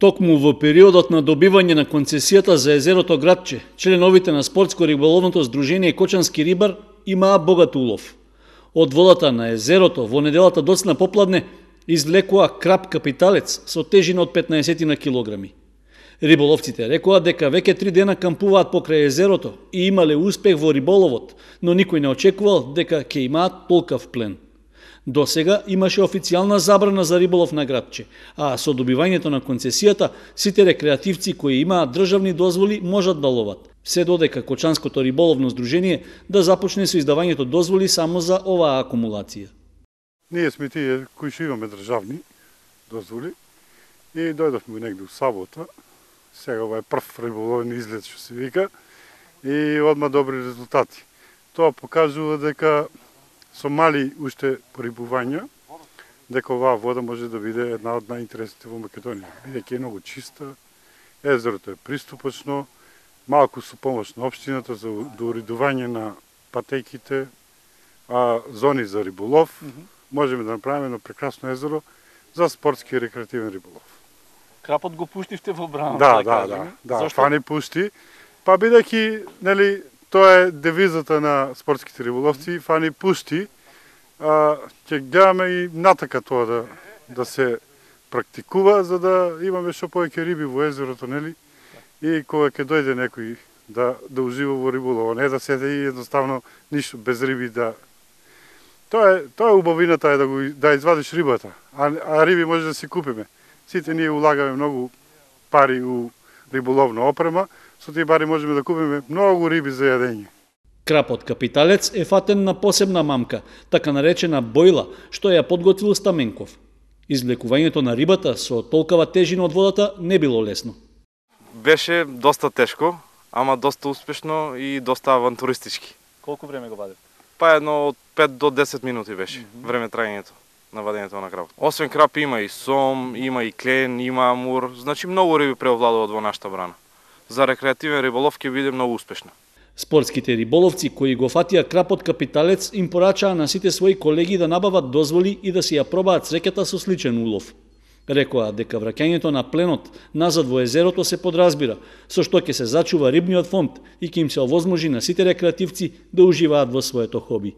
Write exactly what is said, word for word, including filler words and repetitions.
Токму во периодот на добивање на концесијата за езерото Гратче, членовите на спортско-риболовното здружение Кочански рибар имаа богат улов. Од водата на езерото во неделата доцна попладне извлекоа крап капиталец со тежина од петнаесет на килограми. Риболовците рекоа дека веќе три дена кампуваат покрај езерото и имале успех во риболовот, но никој не очекувал дека ќе имаат толкав плен. До сега имаше официјална забрана за риболов на Гратче, а со добивањето на концесијата сите рекреативци кои имаат државни дозволи можат да ловат, се додека Кочанското риболовно здружение да започне со издавањето дозволи само за оваа акумулација. Ние сме тие кои што имаме државни дозволи и дојдовме негде у сабота. Сега ова е прв риболовен излет што се вика и одма добри резултати. Тоа покажува дека со мали уште порибувања, дека оваа вода може да биде една од најинтересните во Македонија. Бидејќи е многу чиста, езерото е приступачно, малку со помош на општината за до уредување на патејките, а зони за риболов, можеме да направиме едно прекрасно езеро за спортски и рекреативен риболов. Крапот го пуштивте во брана. Да, да, да, да, фани пушти. Па бидејќи, нели, тоа е девизата на спортските риболовци, фани пушти, а, ќе гледаме и натака тоа да, да се практикува, за да имаме што повеќе риби во езерото, нели? И кога ќе дојде некој да, да ужива во риболова, не да седе и едноставно ништо без риби да... Тоа е, тоа е убавината е да, го, да извадиш рибата, а, а риби може да си купиме. Сите ние улагаме многу пари у риболовна опрема, со тие пари можеме да купиме многу риби за јадење. Крапот капиталец е фатен на посебна мамка, така наречена бојла, што ја подготвил Стаменков. Извлекувањето на рибата со толкова тежина од водата не било лесно. Беше доста тешко, ама доста успешно и доста авантуристички. Колку време го вадите? Па едно од пет до десет минути беше mm -hmm. време трајањето на вадењето на крапот. Освен крап има и сом, има и клен, има амур, значи многу риби преовладуваат во нашата брана. За рекреативен риболов ќе биде многу успешна. Спортските риболовци кои го фатија крапот капиталец им порачаа на сите своји колеги да набават дозволи и да си ја пробаат среќата со сличен улов. Рекоа дека враќањето на пленот назад во езерото се подразбира, со што ќе се зачува рибниот фонд и ќе им се овозможи на сите рекреативци да уживаат во своето хоби.